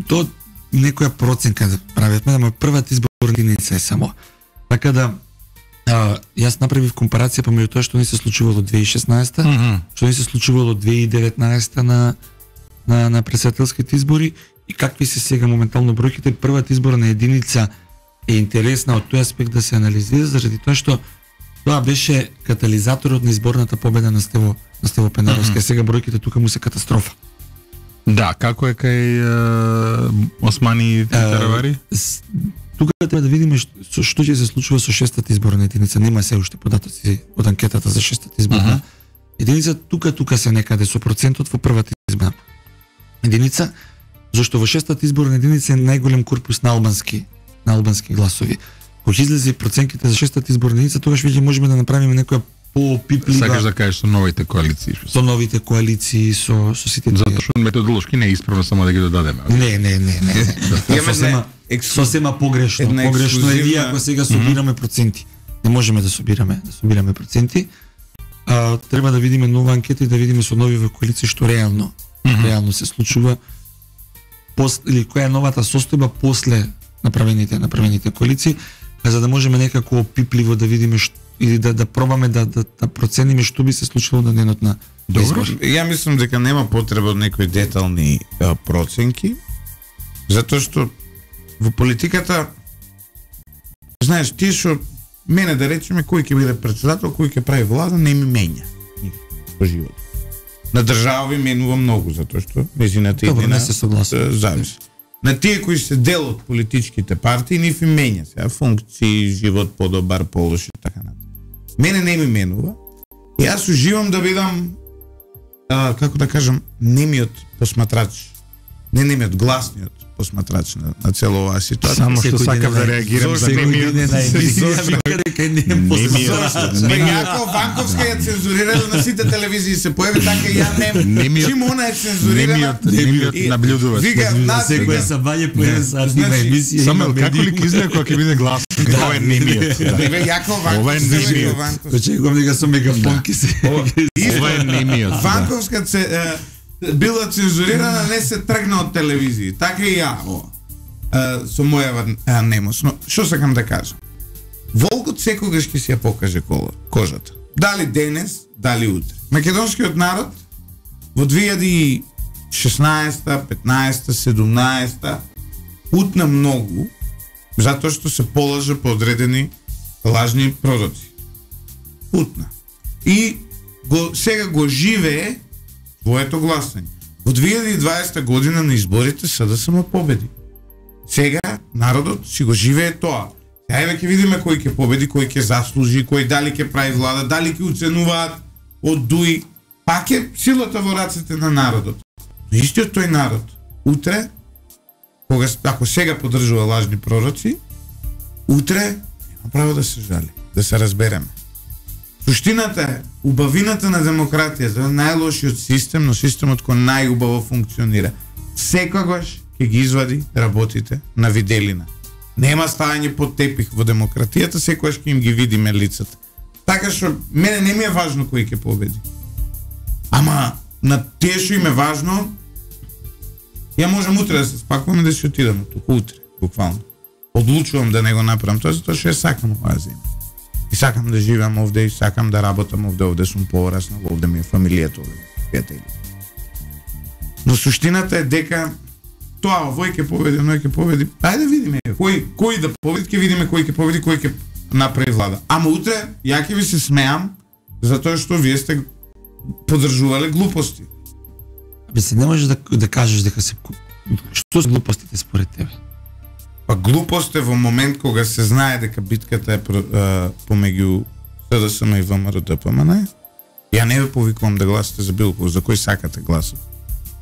то некоја проценка да правиме, ама првата изборна единица е само. Така да јас направив компарација помеѓу тоа што не се случувало 2016, што не се случувало 2019 на претседателските избори и какви се сега моментално бројките. Првата изборна единица е интересна од тој аспект да се анализира, заради тоа што тоа беше катализаторот на изборната победа на Стево Пенаровски. Сега бројките тука му се катастрофа. Да, како е кај Османи Таравари? Тука треба да видиме што ќе се случува со шестата изборна единица. Нема се уште податоци од анкетата за шестата изборна единица. Тука се некаде со процентот во првата изборна единица, зашто во шестата изборна единица е најголем корпус на албански гласови. Кога излезе проценките за шестата изборна единица, тогаш веќе можеме да направиме некоја поопиплива. Сакаш да кажеш со новите коалиции? Со новите коалиции, со сите тие. Затоа што методолошки не е исправно само да ги додадеме. Не. Сосема погрешно. Погрешно е ние ако сега собираме проценти. Не можеме да собираме проценти. Треба да видиме нова анкета и да видиме со нови коалиции што реално се случува. Или која е новата состојба после направените коалиции, за да можеме некако опипливо да видиме или да пробаме да процениме што би се случило на денот на избори. Ја мислам дека нема потреба од некои детални проценки, затоа што во политиката, знаеш, ти што мене да речеме кој ќе биде претседател, кој ќе прави влада, не ми менја во живот. На држава ви менува многу, затоа што нејзината иднина зависи. На тие кои се дел од политичките партии, нив им менја сега функции, живот подобар, полош и така натаму. Мене не ми менува. И јас уживам да бидам, како да кажам, немиот посматрач. Не немиот, гласниот посматрач на цело оваа ситуација. Само што сакам да реагирам за немиот. Јако Ванковска ја цензурирала на сите телевизии, се појави така и ја нем. Чим она е цензурирана? Немиот наблюдувач. Секој се бање појави сартива емисија. Само како ли изгледа кога ќе биде глас? Ова е немиот. Јако Ова е немиот. Очекувам дека со мегафон ќе се. Ова е немиот. Ванковска била цензурирана, не се тргна од телевизии. Така и ја, со моја немост. Но, што сакам да кажам? Волкот секогаш ќе си ја покаже кожата. Дали денес, дали утре. Македонскиот народ во 2016, 15, 17 утна многу, затоа што се полажа по одредени лажни пророци. Утна. И сега го живее своето гласање. Во 2020 година на изборите СДСМ победи. Сега народот си го живее тоа. Ајде ќе видиме кој ќе победи, кој ќе заслужи, кој дали ќе прави влада, дали ќе уценуваат од ДУИ. Пак е силата во рацете на народот. Но истиот тој народ, утре, ако сега поддржува лажни пророци, утре нема право да се жали, да се разбереме. Суштината е, убавината на демократијата е најлошиот систем, но системот кој најубаво функционира. Секогаш ќе ги извади работите на виделина. Нема ставање под тепих во демократијата, секогаш ќе им ги видиме лицата. Така што мене не ми е важно кој ќе победи. Ама на тие што им е важно, ја можам утре да се спакуваме да си отидам туку утре, буквално. Одлучувам да не го направам тоа, затоа што ја сакам оваа земја. И сакам да живеам овде, и сакам да работам овде сум пораснал, овде ми е фамилијата, овде ми е пријатели. Но суштината е дека тоа овој ќе победи, оној ќе победи. Ајде да видиме кој да победи, ќе видиме кој ќе победи, кој ќе направи влада. Ама утре ја ќе ви се смеам затоа што вие сте поддржувале глупости. се не можеш да кажеш дека се што се глупостите според тебе? Па глупост е во момент кога се знае дека битката е помеѓу СДСМ и ВМРО-ДПМН. Ја не ве повикувам да гласате за било кој, за кој сакате гласот.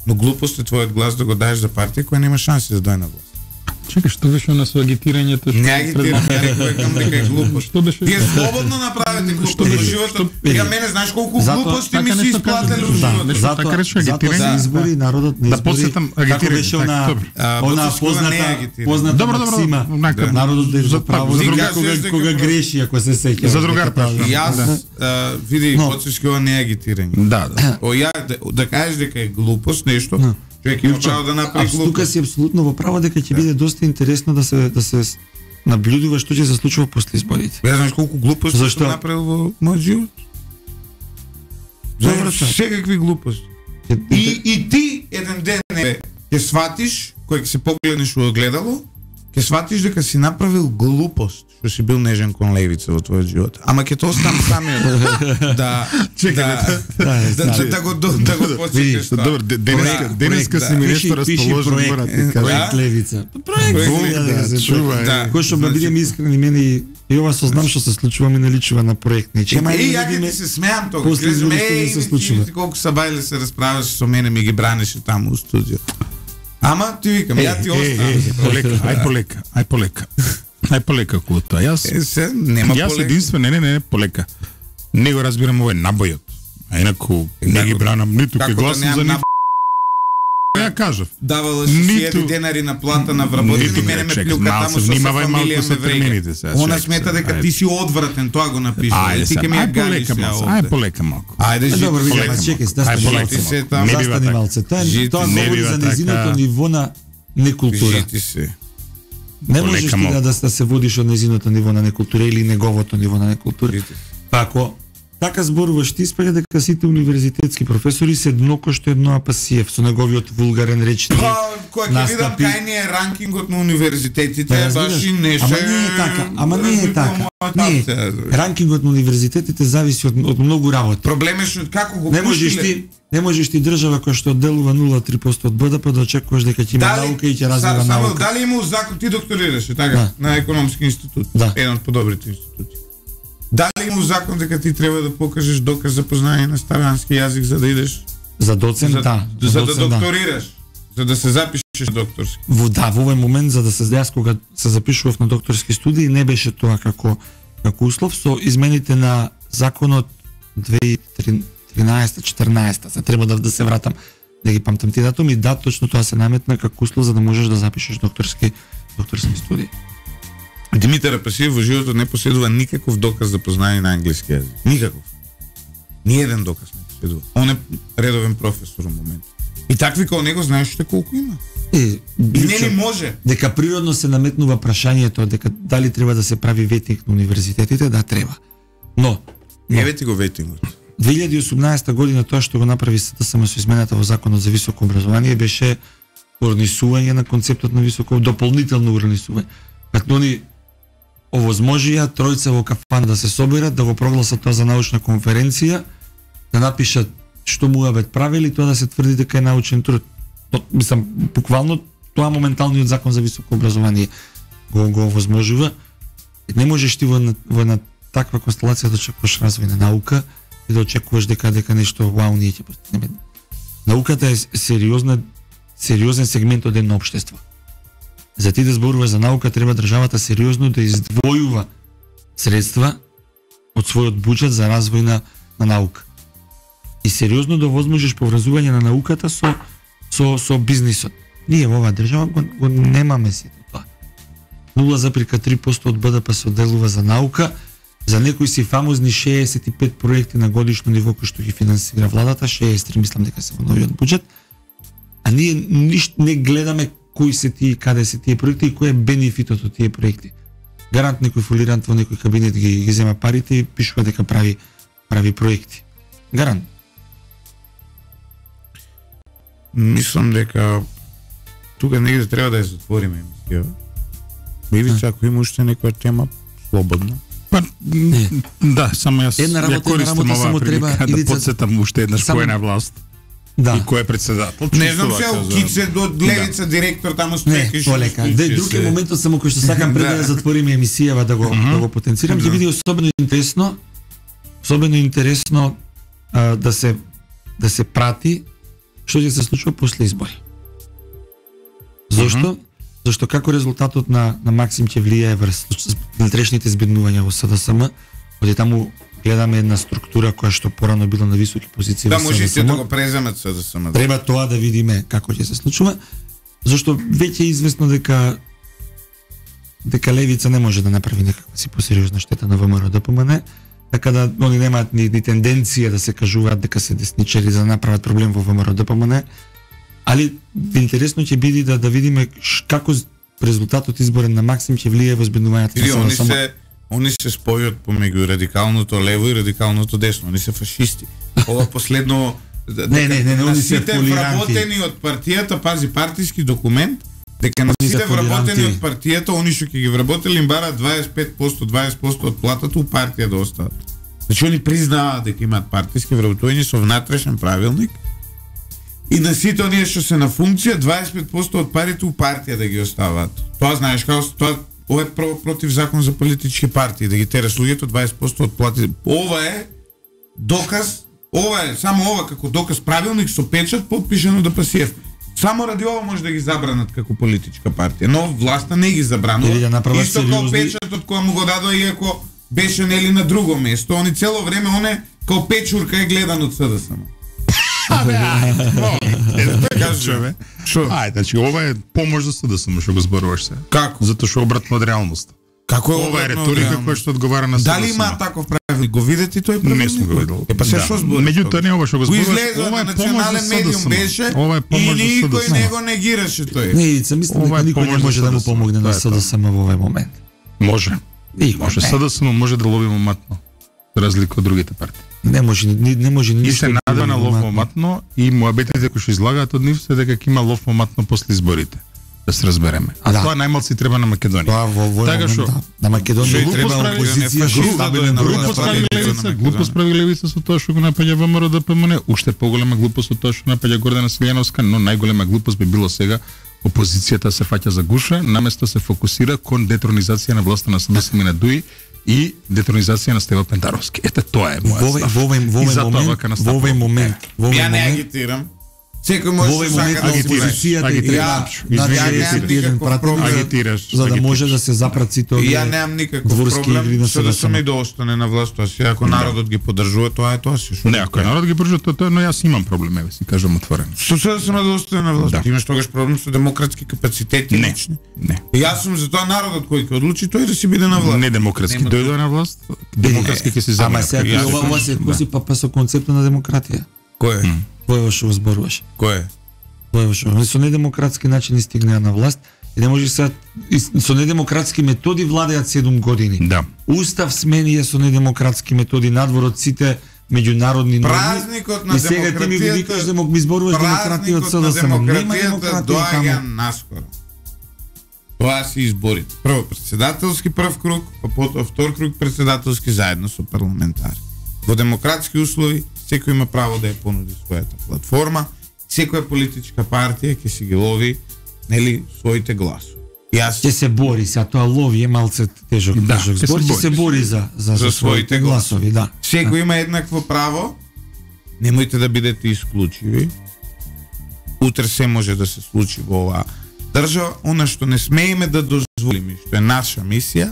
Но глупост е твојот глас да го даеш за партија која нема шанси да дојде на власт. Чекај, што беше на со агитирањето? Не агитирам, ја рекам дека е глупост. Што беше? Тие слободно направете глупост во животот. Ја мене знаеш колку глупости ми се исплателе во животот. Затоа се избори народот не избори. Да посетам агитирање. Како беше она позната максима. Народот да право кога греши, ако се сеќа. За другар прашам. Јас види Поцевски ова не е агитирање. Да. Ја да кажеш дека е глупост нешто. Човек има право да направи глупост. Тука си апсолутно во право дека ќе биде доста интересно да се наблюдува што ќе се случува после изборите. Ја знаеш колку глупости сум направил во мојот живот? Добро, секакви глупости. И ти еден ден ќе сватиш, кој ќе се погледнеш во огледало, ќе сватиш дека си направил глупост, што си бил нежен кон левица во твојот живот. Ама ќе тоа оставам самиот да го посетиш. Добро, денеска си ми нешто расположен, мора ти кажам. Проект левица. Кој што бидеме искрени, мене и ова сознам што се случува ми наличува на проект. Ја ќе ти се смеам тога. Ти колку сабајле се расправаш со мене, ми ги бранеше таму во студио. Ама ти викам, ја ти оставам. Ај полека куто. Јас нема полека. Јас единствено не полека. Не го разбирам овој набојот. А инаку не ги бранам ниту ке гласам за нив. Ја кажав. Давала си 1000 денари на плата на вработени, мене ме плюка таму со фамилија ме врега. Она смета дека ти си одвратен, тоа го напишува. И ти ке ми ја галиш ја овде. Ај полека малку. Ајде, добро, видиме, чекај, застани малце. Тоа говори за незиното ниво на некултура. Жити се. Не можеш ти да се водиш од незиното ниво на некултура или неговото ниво на некултура. Па ако така зборуваш, ти испаѓа дека сите универзитетски професори се едноко што едно Апасиев со неговиот вулгарен речник. Кој ќе видам кај ни е ранкингот на универзитетите, баш и неше. Ама не е така. Не, ранкингот на универзитетите зависи од многу работи. Проблемот е што како го Не можеш ти држава која што одделува 0,3% од БДП да очекуваш дека ќе има наука и ќе развива наука. Дали има закон, ти докторираше така на економски институт, еден од подобрите институти. Дали има закон дека ти треба да покажеш доказ за познање на старански јазик за да идеш за доцент, за да докторираш, за да се запишеш на докторски. Во овој момент за да се јас кога се запишував на докторски студии не беше тоа како услов со измените на законот 2013-14, се треба да се вратам да ги памтам тие датуми, точно тоа се наметна како услов за да можеш да запишеш докторски студии. Димитар Апасиев во животот не поседува никаков доказ за познање на англиски јазик. Никаков. Ниеден доказ не поседува. Он е редовен професор во момент. И такви као него знаеш што колку има. Не може. Дека природно се наметнува прашањето дека дали треба да се прави ветник на универзитетите, да треба. Но еве ти го ветингот. 2018 година тоа што го направи СДСМ со измената во Законот за високо образование беше урнисување на концептот на високо, дополнително урнисување. Като они овозможија тројца во кафана да се соберат, да го прогласат тоа за научна конференција, да напишат што муабет правили, тоа да се тврди дека е научен труд. Мислам, буквално тоа моменталниот закон за високо образование го овозможува. Не можеш ти во една таква констелација да очекуваш развој на наука и да очекуваш дека нешто вау ние ќе постигнеме. Науката е сериозен сегмент од едно општество. За ти да зборуваш за наука треба државата сериозно да издвојува средства од својот буџет за развој на наука. И сериозно да возможиш поврзување на науката со бизнисот. Ние во оваа држава го немаме сето тоа. 0,3% од БДП се одделува за наука, за некои си фамозни 65 проекти на годишно ниво кои што ги финансира владата, 63 мислам дека се во новиот буџет. А ние ништо не гледаме кои се тие, каде се тие проекти и кој е бенефитот од тие проекти. Гарант некој фолирант во некој кабинет ги зема парите и пишува дека прави проекти. Гарант. Мислам дека тука негде треба да ја затвориме емисија. Или ако има уште некоја тема слободно. Па, да, само јас ја користам оваа прилика да подсетам уште еднаш кој е на власт. Да. И кој е председател. Не знам се Кице до Левица директор таму спреки што лека. Други моментот само кој што сакам пред да затвориме емисијава да го потенцирам, ќе биде особено интересно да се прати што ќе се случува после избори. Зошто? Зашто како резултатот на Максим ќе влијае врз внатрешните збеднувања во СДСМ, оди таму гледаме една структура која што порано била на високи позиции во СДСМ. Да, може и да го преземат СДСМ. Треба тоа да видиме како ќе се случува, зашто веќе е известно дека Левица не може да направи некаква си посериозна штета на ВМРО ДПМН, така да они немаат ни тенденција да се кажуваат дека се десничари за да направат проблем во ВМРО ДПМН. Али интересно ќе биде да видиме како резултатот изборен на Максим ќе влијае во збеднувањето на СДСМ. Они се спојат помеѓу радикалното лево и радикалното десно. Они се фашисти. Ова последно не, они се сите вработени од партијата, пази партиски документ, дека на сите вработени од партијата, они што ќе ги вработели им бараат 20% од платата у партија да остават. Значи они признаваат дека имаат партиски вработување со внатрешен правилник. И на сите оние што се на функција 25% од парите у партија да ги оставаат. Тоа знаеш како тоа ова е против закон за политички партии да ги тераш луѓето 20% од плати. Ова е доказ, само ова како доказ правилник со печат потпишан од ДПСФ. Само ради ова може да ги забранат како политичка партија, но власта не ги забранува. Исто како печатот кој му го дадоа иако беше нели на друго место, они цело време као печурка е гледан од СДСМ. Што? Значи ова е помош за СДСМ што го зборуваш се. Како? Затоа што обратно од реалноста. Како ова е риторика која што одговара на СДСМ. Дали има таков правилник? Го видите тој правилник? Не сум го видел. Па се што збори? Меѓутоа не ова што го зборуваш, ова е национален медиум беше. Ова е помош за СДСМ. И никој не го негираше тој. Не, мислам дека никој не може да му помогне на СДСМ во овој момент. Може. Може СДСМ може да лови моматно, за разлика од другите партии. Не може ништо. И се надева на лов моматно и муабетите кои што излагаат од нив се дека ќе има лов моматно после изборите. Да се разбереме. А тоа најмалци треба на Македонија. Тоа во така што на Македонија треба опозиција стабилна. Глупост прави Левица со тоа што го напаѓа ВМРО ДПМН, уште поголема глупост од тоа што напаѓа Гордана Силјановска, но најголема глупост би било сега опозицијата се фаќа за гуша, наместо се фокусира кон детронизација на власта на СДСМ и на ДУИ и детронизација на Стево Пентаровски. Ете тоа е мојот став. Во овој момент. Ја не агитирам. Секој може да сака да агитираш. За да може да се запрат сите овие. Ја немам никаков проблем со да сме да остане на власт, ако народот ги поддржува, тоа е тоа се. Не, ако народот ги поддржува тоа, но јас имам проблем, еве си кажам отворено. Со да сме да остане на власт. Имаш тогаш проблем со демократски капацитети лични? Не. Јас сум за тоа народот кој ќе одлучи тој да си биде на власт. Не демократски дојде на власт, демократски ќе се земе. Ама сега ова се коси па со концептот на демократија. Кој е? Кој што зборуваш? Кој е? Кој што со недемократски начин стигнаа на власт и не може се со недемократски методи владеат 7 години. Да. Устав сменија со недемократски методи надвор од сите меѓународни норми. Празникот на демократијата. И сега ти ми викаш да ми зборуваш демократија од СДСМ. Нема демократија доаѓа наскоро. Тоа се избори. Прво председателски прв круг, па потоа втор круг председателски заедно со парламентари. Во демократски услови секој има право да ја понуди својата платформа, секоја политичка партија ќе си ги лови, нели, своите гласови. Ќе се бори, се тоа лови е малце тежок збор, ќе се бори за своите гласови, да. Секој има еднакво право. Немојте да бидете исклучиви. Утре се може да се случи во оваа држава, она што не смееме да дозволиме, што е наша мисија,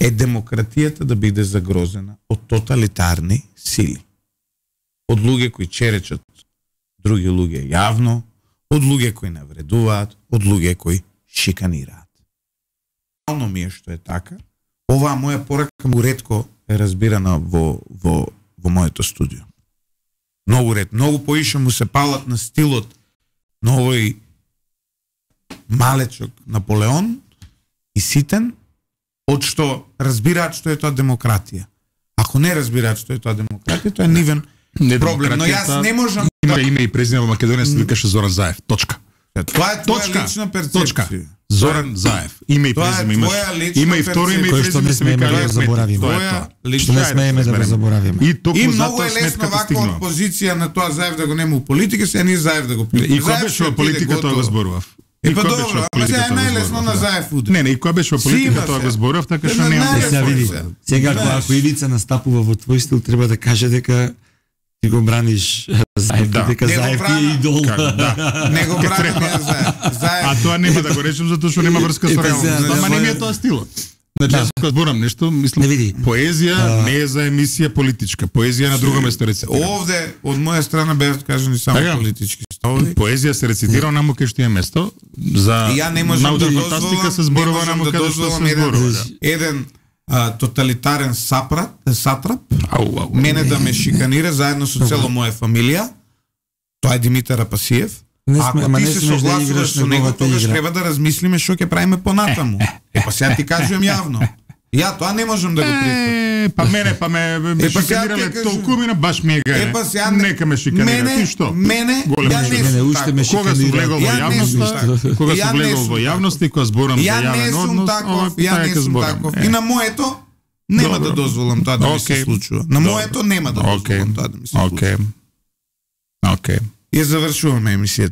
е демократијата да биде загрозена од тоталитарни сили. Од луѓе кои черечат други луѓе јавно, од луѓе кои навредуваат, од луѓе кои шиканираат. Реално ми е што е така. Оваа моја порака му ретко е разбирана во моето студио. Многу ред, многу поише му се палат на стилот на овој малечок Наполеон и ситен, од што разбираат што е тоа демократија. Ако не разбираат што е тоа демократија, тоа е нивен проблем. Но јас не можам има име и презиме во Македонија се викаше Зоран Заев. Точка. Тоа е твоја лична перцепција. Зоран Заев. Име и презиме имаш. Има и второ име и кој што не смееме да го заборавиме. Што не смееме да го заборавиме. И многу е лесно вака од позиција на тоа Заев да го нема у политика, се ние Заев да го политика. И кога беше во политика тоа го зборував. Па добро, ама сега е најлесно на Заев удар. Не, и кога беше во политика тоа го зборував, така што нема. Сега види. Сега ако Ивица настапува во твој стил, треба да каже дека ти го браниш Заев, дека Заев ти е идол. Не го браниш Заев. А тоа нема да го речем затоа што нема врска со реалноста. Ама не ми е тоа стилот. Значи, јас кога зборам нешто, мислам, поезија не е за емисија политичка. Поезија на друго место рецитира. Овде, од моја страна беа кажани само политички ставови. Поезија се рецитира онаму кај што е место. За научна фантастика се зборува онаму каде што се зборува. Еден тоталитарен сатрап, мене да ме шиканира заедно со цела моја фамилија. Тоа е Димитар Апасиев. Ако ти се согласуваш со него, тогаш треба да размислиме што ќе правиме понатаму. Па сега ти кажувам јавно. Ја тоа не можам да го прифатам. Па ме шиканирале толкумина, баш ми е гајне. Нека ме шиканира. Ти што? Мене, ја не сум кога сум влегол во јавност и кога зборам за јавен однос, ја не сум таков. И на моето нема да дозволам тоа да ми се случува. На моето нема да дозволам тоа да ми се случува. Океј. Ја завршуваме емисијата.